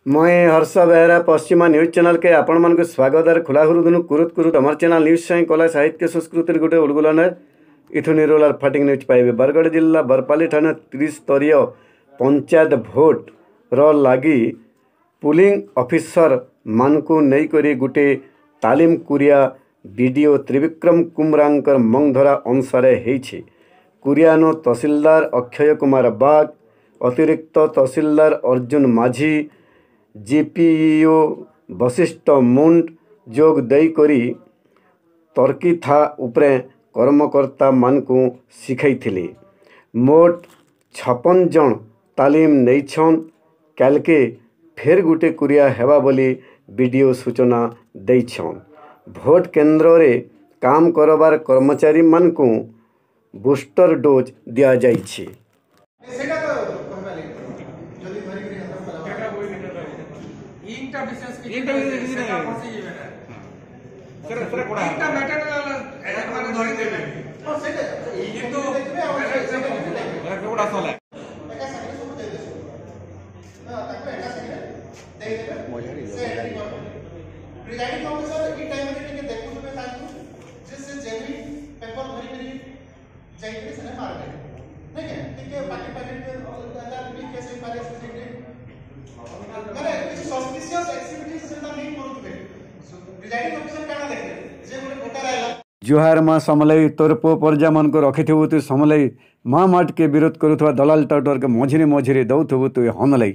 ମୁଇଁ ହର୍ଷ ବେହେରା, ପଶ୍ଚିମା ନ୍ୟୁଜ୍ ଚ୍ୟାନେଲ୍କେ ଆପଣମାନଙ୍କୁ ସ୍ୱାଗତ। ଆର୍ ଖୋଲା ହୁରୁଦୁନୁ କୁରୁତ କୁରୁତ ଆମର ଚ୍ୟାନେଲ୍ ନ୍ୟୁଜ୍ ସାଇଁ କଲା, ସାହିତ୍ୟ, ସଂସ୍କୃତିର ଗୋଟେ ଉଡ଼ଗୁଲାନେ ଇଥୁ ନିରୋଲାର ଫାଟିଂ ନ୍ୟୁଜ୍ ପାଇବେ। ବରଗଡ଼ ଜିଲ୍ଲା ବରପାଲି ଥାନା ତ୍ରିସ୍ତରୀୟ ପଞ୍ଚାୟତ ଭୋଟ୍ର ଲାଗି ପୁଲିଂ ଅଫିସରମାନଙ୍କୁ ନେଇକରି ଗୁଟେ ତାଲିମ କୁରିଆ ବିଡ଼ିଓ ତ୍ରିବିକ୍ରମ କୁମ୍ରାଙ୍କର ମଙ୍ଗଧରା ଅନୁସାରେ ହେଇଛି। କୁରିଆନୁ ତହସିଲଦାର ଅକ୍ଷୟ କୁମାର ବାଗ, ଅତିରିକ୍ତ ତହସିଲଦାର ଅର୍ଜୁନ ମାଝୀ, ଜିପିଇଓ ବଶିଷ୍ଠ ମୁଣ୍ଡ ଯୋଗ ଦେଇକରି ତର୍କିଥା ଉପରେ କର୍ମକର୍ତ୍ତାମାନଙ୍କୁ ଶିଖେଇଥିଲେ। ମୋଟ 56 ଜଣ ତାଲିମ ନେଇଛନ୍। କାଲ୍କେ ଫେର୍ ଗୁଟେ କୁରିଆ ହେବା ବୋଲି ବିଡ଼ିଓ ସୂଚନା ଦେଇଛନ୍। ଭୋଟ୍ କେନ୍ଦ୍ରରେ କାମ କରବାର୍ କର୍ମଚାରୀମାନଙ୍କୁ ବୁଷ୍ଟର ଡୋଜ୍ ଦିଆଯାଇଛି। ସେଇଟା ତ କହିବା ଲାଗି ଯଦି ଧରିକିରି ହାତ ଇଙ୍କଟା ବିଶେଷ କିଛି ଇଙ୍କଟା ବିଶେଷ କିଛି ସେଟା ନାଇଁ। ଫସିଯିବେ ନା। ସେଟା କୋଡ଼ା ଇଙ୍କଟା ମ୍ୟାଟେରିଆଲ ଏମାନେ ଧରିଦେବେ। ହଁ, ସେଇଟା କିନ୍ତୁ ଦେଖିବେ ଆଉ ସେଇଟା ବି ଦେଖିବେ। ସେଟା କୋଡ଼ା ସଲା ଏକା ସାଙ୍ଗରେ ସବୁ ଦେଇଦେବେ। ହଁ, ତାକୁ ଏକା ସାଙ୍ଗରେ ଦେଇଦେବେ, ସେ ଏଣ୍ଟ୍ରି କରିଦେବେ। ପ୍ରିଜାଇଡିଂ ଅଫିସର ଏଇ ଟାଇମରେ ଟିକେ ଦେଖୁଥିବେ ତାଙ୍କୁ ଯେ ସେ ଜେନ୍ୟୁନ୍ ପେପର ଧରିକରି ଯାଇକରି ସେନେ ମାରବେ ନାଇଁ କେଁ। ଟିକେ ପାକି ପାକି ବି କେସ୍ ହେଇପାରେ। ସେ ସେଇଠି ମାନେ କିଛି ସସ୍ପିସିୟସ୍ ଆକ୍ଟିଭିଟିଜ୍ ସେଟା ନେଇ କରୁଥିବେ। ପ୍ରିଜାଇଡିଂ ଅଫିସର କାଣା ଦେଖିବେ ଯେ ଗୋଟେ ଭୋଟର ଆଇଲା। ଜୁହାର ମା ସମଲେଇ, ତୋର ପୁଅ ପରଜାମାନଙ୍କୁ ରଖିଥିବୁ ତୁ ସମଲେଇ। ମା ମାଟକେ ବିରୋଧ କରୁଥିବା ଦଲାଲ ଟାଉଟରକେ ମଝିରେ ମଝିରେ ଦଉଥିବୁ ତୁ ହନଲେଇ।